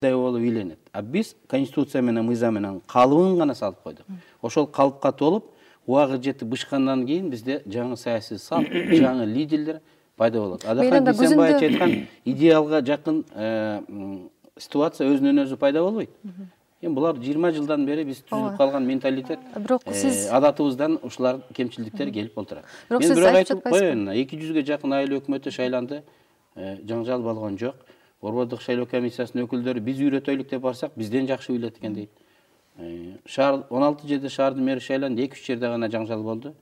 болуп ийленет. А биз конституция менен мыйзам менен калыбын гана салып койдук. Ошол калыпка толуп убагы жетип бышкандан кийин бизде жаңы саясий салт, жаңы лидерлер пайда болот. Адакай Дүйсенбаев айткан идеалга жакын ситуация өзүнөн өзү пайда болбойт. Эми булар 20 жылдан бери биз түзүп калган менталитет, адатыбыздан ушулар кемчиликтер келип отурат. Мен бирок айтып коеюн, 200ге жакын айыл өкмөтү шайланды, жаңжал болгон жок. Борбордук шайлоо комиссиясынын өкүлдөрү биз үйрөтөйлүк деп барсак, бизден жакшы үйлөт экен дейт. Шаар 16 жерде шаардын мэри шайланды, 2-3 жерде гана жаңжал болду.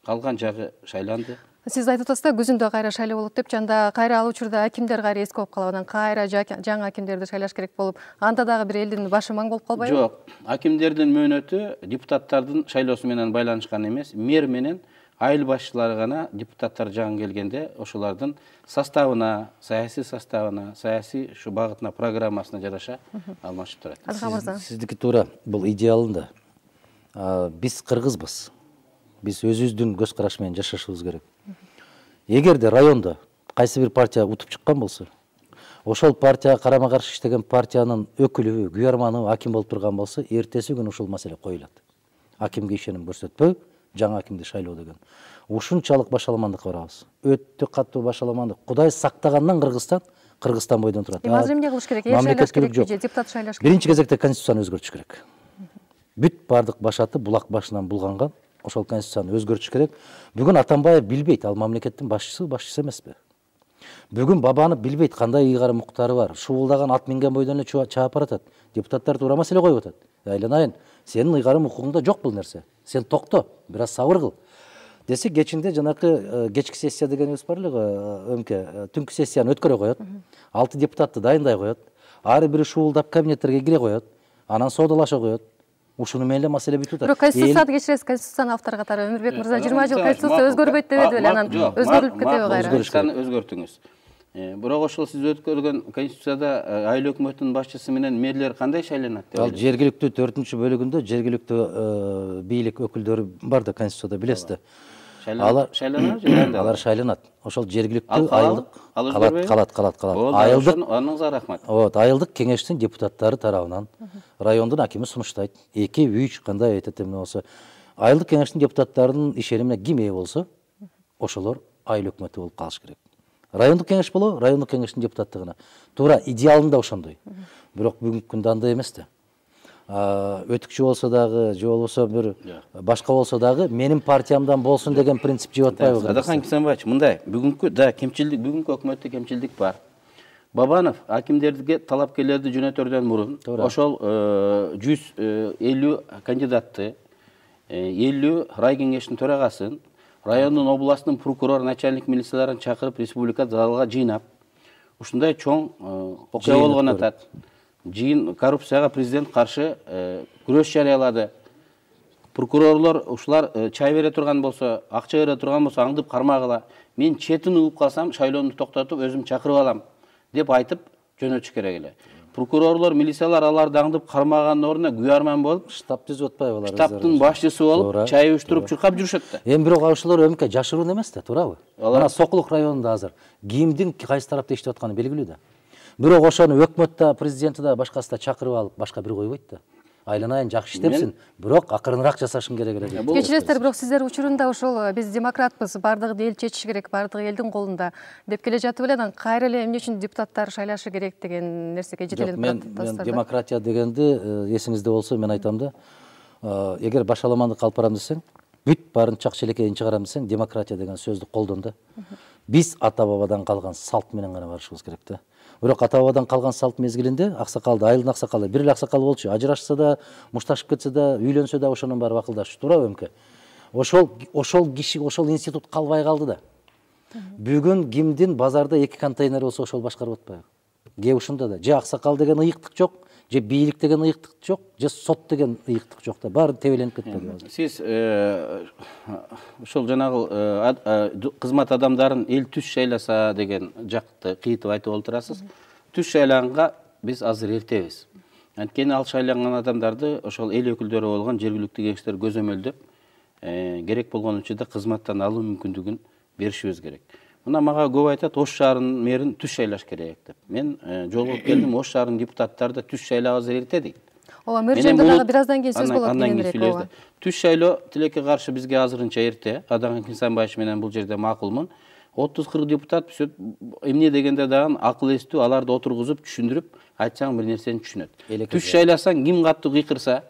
Калган жагы шайланды. Сиз айтып атасыз да, күзүндө кайра шайлоо болот деп, жанда кайра ал учурда акимдер кайра эски болуп калып, анан кайра жаңы акимдерди шайлаш керек болуп, анда дагы бир элдин башы маң болуп калбайбы? Жок, акимдердин мөөнөтү депутаттардын шайлоосу менен байланышкан эмес. Мэр менен айыл башчылары гана депутаттар жагын келгенде ошолордун составына, саясий ушу багытына, программасына жараша алмашып турат. Сиздики туура, бул идеалында. Биз кыргызбыз. Биз өзүбүздүн көз караш менен жашашыбыз керек. Эгерде райондо кайсы бир партия утуп чыккан болсо, ошол партияга карама каршы иштеген партиянын өкүлү, күйөрманы аким болуп турган болсо, эртеси күнү ушул маселе коюлат. Акимге ишеним көрсөтпөө, жаңы акимди шайлоо деген. Ушунчалык башаламандыкка барабыз. Өтө катуу башаламандык. Кудай сактагандан Кыргызстан бойдон турат. Азыр эмне кылыш керек? Шайлаш керекпи же депутат шайлаш керек? Биринчи кезекте конституцияны өзгөртүш керек. Бүт бардык башаты булак башынан булганган. Ошол конституцияны өзгөртүш керек. Бүгүн Атамбаев билбейт, ал мамлекеттин башчысы эмеспи? Бүгүн Бабанов билбейт, кандай ыйгары муктары бар. Шуулдаган ат минген бойдон эле чаап баратат. Депутаттар туура маселе коюп атат. Айланайын, сенин ыйгарым укугуңда жок бул нерсе. Сен токто, бир аз сабыр кыл. Десе кечинде жанакы кечки сессия дегенибиз бар эле го, өңкө түнкү сессияны өткөрө коет. 6 депутатты дайындай коет. Ары бири шуулдап кабинеттерге кире коет. Анан соодалаша коет. Ушуну менен эле маселе бүтүп атат. Бирок конституцияны кечиресиз, конституцияны автор катары Өмүрбек мырза 20 жыл конституция өзгөрбөйт дебеди беле, анан өзгөрүлүп кетеби кайра? Конституцияны өзгөртүңүз. Бирок ошол сиз өткөргөн конституцияда айыл өкмөтүнүн башчысы менен мэрлер кандай шайланат деп? Ал жергиликтүү 4-бөлүгүндө жергиликтүү бийлик өкүлдөрү бар да конституцияда, билесиз да. Алар шайланат. Ошол жергиликтүү айылдык калат. Айылдык, аныңызга рахмат. Айылдык кеңештин депутаттары тарабынан райондун акими сунуштайт. 2-3 кандай айтат эмне болсо, айылдык кеңештин депутаттарынын ишенимине ким ээ болсо, ошолор айыл өкмөтү болуп калыш керек. Райондук кеңеш болобу, райондук кеңештин депутаттыгына. Туура идеалында ошондой. Бирок бүгүнкү күндө андай эмес да. Өтүкчү болсо дагы, же болбосо бир башка болсо дагы менин партиямдан болсун деген принцип жеп атпайбы? Адакан Кисенбаевич, мындай, бүгүнкү өкмөттө кемчилдик бар. Бабанов акимдерге талапкерлерди жөнөтөрдөн мурун ошол 150 кандидатты, 50 райкеңештин төрагасын, райондун, областын прокурор, начальник милицияларын чакырып, республика залга жыйнап, ушундай чоң окуя болгон атат. Жыйын коррупцияга президент каршы күрөш жарыялады. Прокурорлор ушулар чай бере турган болсо, акча бере турган болсо аңдып кармагыла. Мен четин угуп калсам, шайлоону токтотуп, өзүм чакырып алам деп айтып жөнөтүш керек эле. Прокурорлор, милициялар аларды аңдып кармаганын ордуна күйөрман болуп, штаб түзүп атпайбы алар? Штабтын башчысы болуп, чай уштуруп чуркап жүрүшөт да. Эми бирок ошолор өмкө жашыруун эмес да, туурабы? Мына Сокулук районунда азыр кимдин кайсы тарапта иштеп атканы белгилүү да. Бирок ошону өкмөт да, президенти да, башкасы да чакырып алып, башка бир койбойт да. Айланайын жакшы иштепсин, бирок акырыныраак жасашың керек эле. Кечиресиздер, бирок сиздер учурунда ошол биз демократпыз, бардыгы эл чечиш керек, бардыгы элдин колунда деп келе жатып эле, анан кайра эле эмне үчүн депутаттар шайлашы керек деген нерсеге жетеленип атасыздар. Мен демократия дегенди эсиңизде болсо мен айтам да, эгер башаламандык алып барам десең, бүт баарын чак челекейин чыгарам десең, демократия деген сөздү колдон да. Биз ата бабадан калган салт менен гана барышыбыз керек да. Бирок ата бабадан калган салт мезгилинде аксакалды, айылдын аксакалы, бир эле аксакал болчу, ажырашса да, мушташып кетсе да, үйлөнсө да ошонун баары акылдашы, туурабы өмкө? Ошол киши, ошол институт калбай калды да. Бүгүн кимдин базарда 2 контейнер болсо ошол башкарып атпайбы? Кээ ушунда да, же аксакал деген ыйыктык жок, же бийлик деген ыйыктык жок, же сот деген ыйыктык жок да, баары тебеленип кетпеби? Сиз ошол жанагы кызмат адамдарын эл түз шайласа деген жакты кыйтып айтып олтурасыз. Түз шайлаганга биз азыр эртебиз. Анткени ал шайланган адамдарды ошол эл өкүлдөрү болгон жергиликтүү кеңештер көзөмөлдөп, керек болгон учурда кызматтан алуу мүмкүндүгүн беришибиз керек. Мына мага көп айтат, Ош шаарынын мэрин түз шайлаш керек деп. Мен жолугуп келдим, Ош шаарынын депутаттары да түз шайлабыз эрте дейт. Ооба, мэр жөнүндө дагы бир аздан кийин сөз болот кийинирээк. Түз шайлоо тилекке каршы бизге азырынча эрте. Адахан Кенсанбаевич менен бул жерде макулмун. 30-40 депутат эмне дегенде дагы акыл эстүү, аларды отургузуп, түшүндүрүп, айтсаң бир нерсени түшүнөт. Түз шайласаң ким каттуу кыйкырса,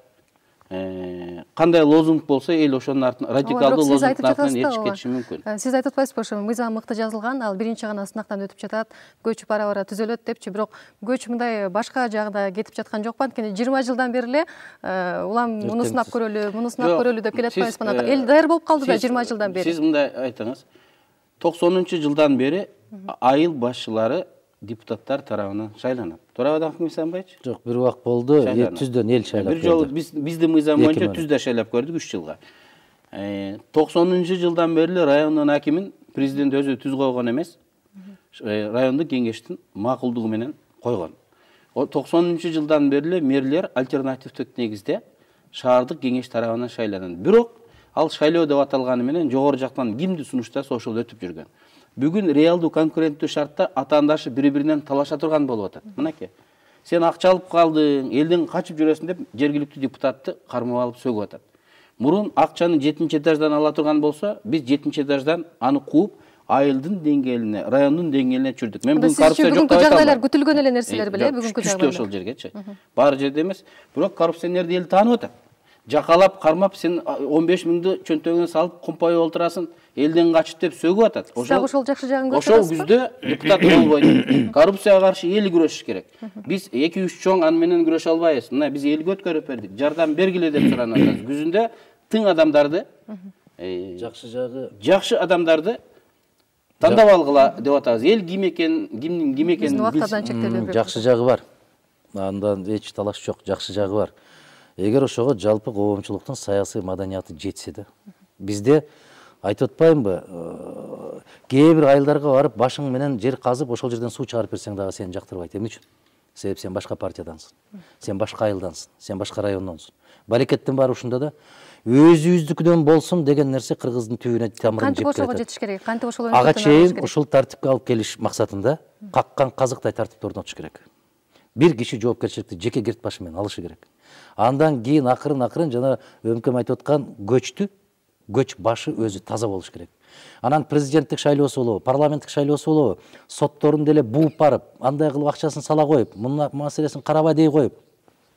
кандай лозунг болсо эл ошонун артынан радикалдуу лозунгдун артынан эришип кетиши мүмкүн. Сиз айтып атпайсызбы, ошо мыйзам мыкты жазылган, ал биринчи гана сынактан өтүп жатат, көч бара-бара түзөлөт депчи, бирок көч мындай башка жагда кетип жаткан жокпу? Анткени 20 жылдан бери эле улам муну сынап көрөлү деп келе атпайсызбы? Эл даяр болуп калды да 20 жылдан бери. Сиз мындай айтыңыз. 90-жылдан бери айыл башчылары депутаттар тарабынан шайланат. Туурабы Адахан Кенсанбаевич? Жок, бир убак болду, түздөн эл шайлап. Бир жолу биздин мыйзам боюнча түздө шайлап көрдүк 3 жылга. 90-жылдан бери эле райондун акимин президент өзү түз койгон эмес, райондук кеңештин макулдугу менен койгон. 90-жылдан бери эле мэрлер альтернативдик негизде шаардык кеңеш тарабынан шайланат. Бирок ал шайлоо деп аталганы менен жогору жактан кимди сунуштаса ошол өтүп жүргөн. Бүгүн реалдуу конкуренттүү шартта атаандашы бири-биринен талаша турган болуп атат. Мынакей. Сен акча алып калдың, элден качып жүрөсүң деп жергиликтүү депутатты кармап алып сөгүп атат. Мурун акчаны 7-этаждан ала турган болсо, биз 7-этаждан аны кууп, айылдын деңгээлине, райондун деңгээлине түшүрдүк. Мен бүгүн коррупция жок деп айтам. Жагдайлар күтүлгөн эле нерселер беле, бүгүнкү жагдайлар. Ошол жергечи. Баары жерде эмес. Бирок коррупционерди эл таанып атат. Жакалап, кармап, сен 15 миңди чөнтөгүнө салып, компайып олтурасың, элден качып деп сөгүп атат. Ошол жакшы жагын көрүп Ошол күздө депутат болбойт. Коррупцияга каршы эл күрөшүш керек. Биз 2-3 чоң аны менен күрөшө албайбыз. Мына биз элге өткөрүп бердик. Жардам бергиле деп суранып атабыз. Күзүндө тың адамдарды, жакшы адамдарды тандап алгыла деп атабыз. Эл ким экен, кимдин ким экенин убактардан чектелип. Жакшы жагы бар. Андан эч талаш жок, жакшы жагы бар. Эгер ошого жалпы коомчулуктун саясий маданияты жетсе да, бизде айтып атпаймынбы, кээ бир айылдарга барып башың менен жер казып, ошол жерден суу чыгарып берсең дагы сени жактырбайт. Эмне үчүн? Себеп сен башка партиядансың, сен башка айылдансың, сен башка райондонсуң. Барекеттин баары ушунда да. Өзүбүздүкүдөн болсун деген нерсе кыргыздын түбүнө тамырын жеп келет. Кантип ошого жетиш керек? Кантип ошол ага чейин ушул тартипке алып келиш максатында каккан казыктай тартипти орнотуш керек. Бир киши жоопкерчиликти жеке керт башы менен алышы керек. Андан кийин акырын жана өмкөм айтып аткан көч башы өзү таза болуш керек. Анан президенттик шайлоосу болобу, парламенттик шайлоосу болобу, сотторун деле бууп барып, андай кылып акчасын сала коюп, мына маселесин карабай дей коюп,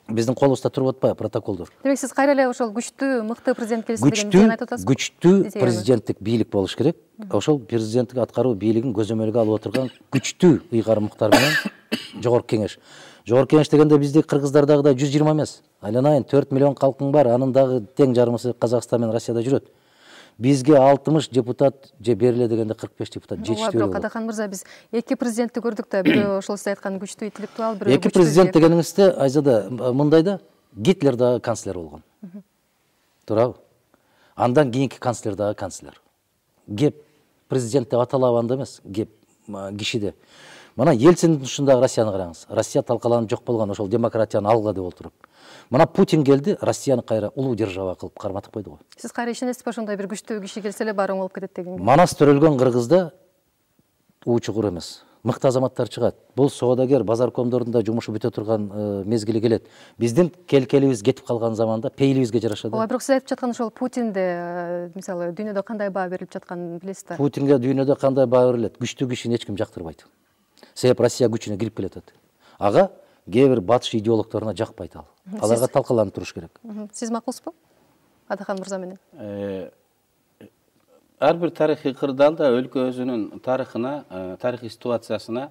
биздин колубузда туруп атпайбы протоколдор. Демек сиз кайра эле ошол күчтүү, мыкты президент келсе деген айтып атасызбы? Күчтүү президенттик бийлик болуш керек. Ошол президенттик аткаруу бийлигин көзөмөлгө алып отурган күчтүү ыйгарым муктар менен жогорку кеңеш. Жогорку кеңеш дегенде бизди кыргыздардагыдай 120 эмес. Айланайын 4 миллион калкың бар, анын дагы тең жарымысы Казакстан менен Россияда жүрөт. Бизге 60 депутат же бериле дегенде 45 депутат жетиштүү болот. Адахан мырза, биз эки президентти көрдүк да, бирөө ошол сиз айткан күчтүү интеллектуал, бирөө эки президент дегениңизде Айзада мындай да, Гитлер дагы канцлер болгон. Туурабы? Андан кийинки канцлер дагы канцлер. Кеп президент деп аталабы анда эмес, кеп кишиде. Мына Ельцин ушундагы Россияны караңыз. Россия талкаланып жок болгон, ошол демократияны алга деп отуруп. Мына Путин келди, Россияны кайра улуу держава кылып карматып койду го. Сиз кайра ишенесизби, ошондой бир күчтүү киши келсе эле баары оң болуп кетет дегенге? Манас төрөлгөн Кыргызда чугур эмес. Мыкты азаматтар чыгат. Бул соодагер, базаркомдордун жумушу бүтө турган мезгили келет. Биздин келкелибиз кетип калган заманда пейлибизге жараша да. Ооба, бирок сиз айтып жаткан ошол Путинде, мисалы, дүйнөдө кандай баа берилип жатканын билесиз да? Путинге дүйнөдө кандай баа берилет? Күчтүү кишини эч ким жактырбайт. Себеп Россия күчүнө кирип келатат. Ага кээ бир батыш идеологторуна жакпайт ал. Аларга талкаланып туруш керек. Сиз макулсузбу? Адахан мырза менен. Ар бир тарыхый кырдаалда өлкө өзүнүн тарыхына, тарыхый ситуациясына,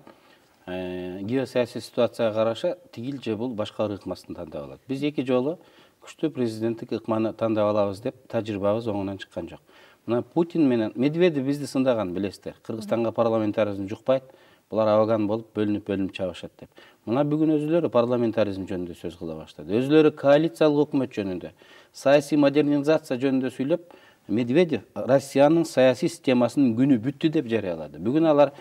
геосаясий ситуацияга караша тигил же бул башка ыкмасын тандап алат. Биз эки жолу күчтүү президенттик ыкманы тандап алабыз деп тажрыйбабыз оңунан чыккан жок. Мына Путин менен Медведев бизди сындаган, билесиздер. Кыргызстанга парламентаризм жукпайт, булар абаган болуп бөлүнүп чабышат деп. Мына бүгүн өзүлөрү парламентаризм жөнүндө сөз кыла баштады. Өзүлөрү коалициялык өкмөт жөнүндө, саясий модернизация жөнүндө сүйлөп, Медведев Россиянын саясий системасынын күнү бүттү деп жарыялады. Бүгүн алар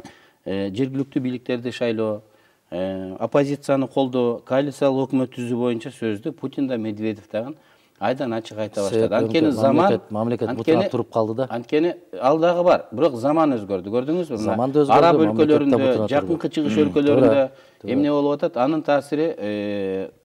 жергиликтүү бийликтерди шайлоо, оппозицияны колдоо, коалициялык өкмөт түзүү боюнча сөздү Путин да Медведев дагы айдан ачык айта баштады. Анткени заман мамлекет бутурап туруп калды да. Анткени ал дагы бар, бирок заман өзгөрдү. Көрдүңүзбү? Заман да өзгөрдү, Араб мамлекет да өлкөлөрүндө, бутурап жакынкы турду. чыгыш өлкөлөрүндө эмне болуп атат? Анын таасири